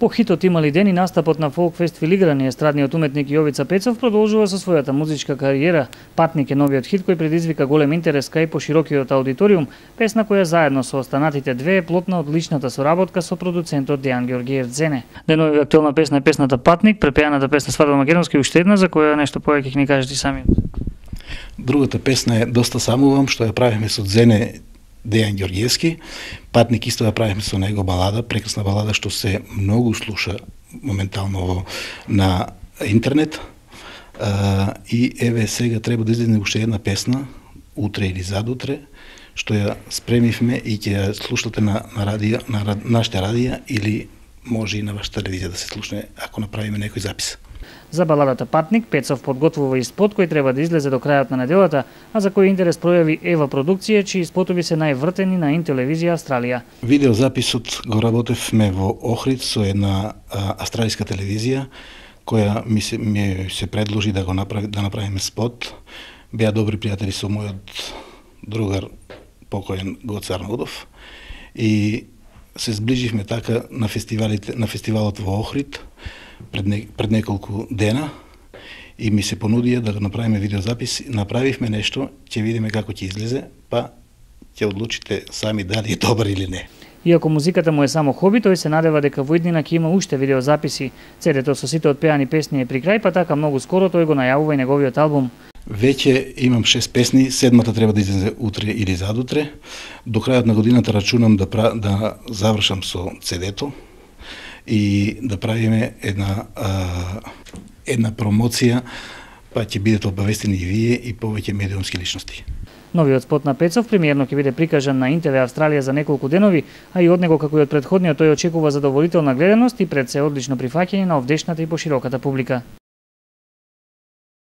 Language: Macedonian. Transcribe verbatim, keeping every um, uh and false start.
По хитот "Имали ден" и настапот на Фолк Фест Филиграни, естрадниот уметник Јовица Пецов продолжува со својата музичка кариера. "Патник" е новиот хит кој предизвика голем интерес кај поширокиот аудиториум, песна која заедно со останатите две е плод на одличната соработка со продуцентот Дејан Георгиев Дзене. Денови актуелна песна е песната "Патник", препеаната песна "Свадба македонски" уште една, за која нешто повеќе ќе ни кажете самиот. Другата песна е "Доста самувам", што ја правиме со Дзене Дејан Георгиевски. "Патник" исто ја правиме со него, балада, прекрасна балада што се многу слуша моментално на интернет. А, и еве сега треба да излезе уште една песна, утре или задутре, што ја спремивме и ќе ја слушате на, на радио, на нашите радија или може и на вашата телевизија да се слушне ако направиме некој запис. За баладата "Патник" Пецов подготвува и спот кој треба да излезе до крајот на неделата, а за кој интерес пројави Ева продукција, чии спотови се највртени на Интелевизија Австралија. Видеозаписот го работевме во Охрид со една а, австралиска телевизија која ми се, ми се предложи да го направи, да направиме спот. Беа добри пријатели со мојот другар покоен Гоце Арнаудов и се сближивме така на фестивалите, на фестивалот во Охрид пред, не, пред неколку дена и ми се понудија да го направиме видеозапис. Направивме нешто, ќе видиме како ќе излезе, па ќе одлучите сами дали е добар или не. Иако музиката му е само хоби, тој се надева дека во иднина ќе има уште видеозаписи. Цедето со сите отпеани песни е при крај, па така многу скоро тој го најавува и неговиот албум. Веќе имам шест песни, седмата треба да излезе утре или задутре. До крајот на годината рачунам да, да завршам со цедето и да правиме една а, една промоција, па ќе бидете обавестени и вие и повеќе медиумски личности. Новиот спот на Пецов премиерно ќе биде прикажан на ин те ве Австралија за неколку денови, а и од него како и од претходниот тој очекува задоволителна гледаност и пред се одлично прифаќање на овдешната и пошироката публика.